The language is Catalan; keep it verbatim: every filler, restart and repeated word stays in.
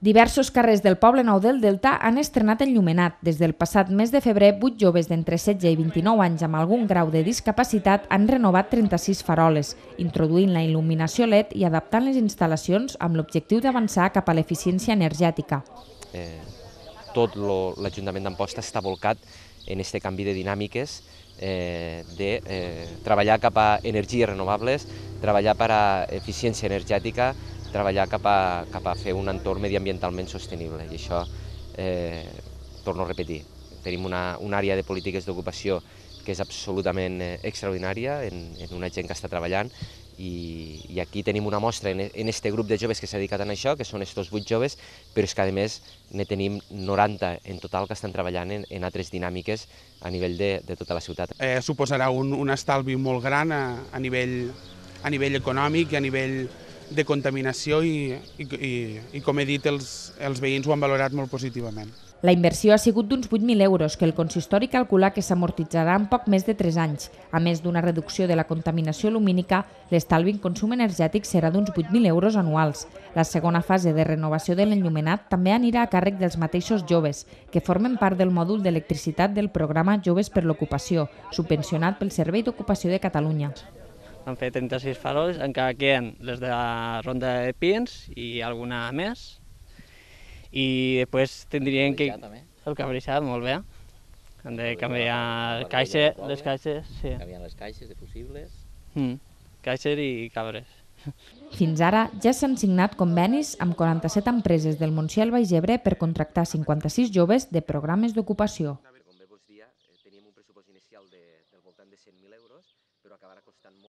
Diversos carrers del Poble Nou del Delta han estrenat enllumenat. Des del passat mes de febrer, vuit joves d'entre setze i vint-i-nou anys amb algun grau de discapacitat han renovat trenta-sis faroles, introduint la il·luminació L E D i adaptant les instal·lacions amb l'objectiu d'avançar cap a l'eficiència energètica. Eh, tot l'Ajuntament d'Amposta està volcat en aquest canvi de dinàmiques, eh, de eh, treballar cap a energies renovables, treballar per a eficiència energètica, treballar cap a, cap a fer un entorn mediambientalment sostenible. I això, eh, torno a repetir, tenim una, una àrea de polítiques d'ocupació que és absolutament eh, extraordinària en, en una gent que està treballant i, i aquí tenim una mostra en, en este grup de joves que s'ha dedicat a això, que són estos vuit joves, però és que a més ne tenim noranta en total que estan treballant en, en altres dinàmiques a nivell de, de tota la ciutat. Eh, suposarà un, un estalvi molt gran a, a, nivell, a nivell econòmic i a nivell de contaminació i, i, i, i com he dit, els, els veïns ho han valorat molt positivament. La inversió ha sigut d'uns vuit mil euros, que el consistori calcula que s'amortitzarà en poc més de tres anys. A més d'una reducció de la contaminació lumínica, l'estalvi en consum energètic serà d'uns vuit mil euros anuals. La segona fase de renovació de l'enllumenat també anirà a càrrec dels mateixos joves, que formen part del mòdul d'electricitat del programa Joves per l'Ocupació, subvencionat pel Servei d'Ocupació de Catalunya. Han fet trenta-sis faroles, encara queden les de la Ronda de Pins i alguna més. I després tindrien que... El cabrissat, molt bé. Han de canviar caixa, les caixes, sí. Canviar les caixes de fusibles. Mm, caixes i cabres. Fins ara ja s'han signat convenis amb quaranta-set empreses del Montsià i el Baix Ebre per contractar cinquanta-sis joves de programes d'ocupació.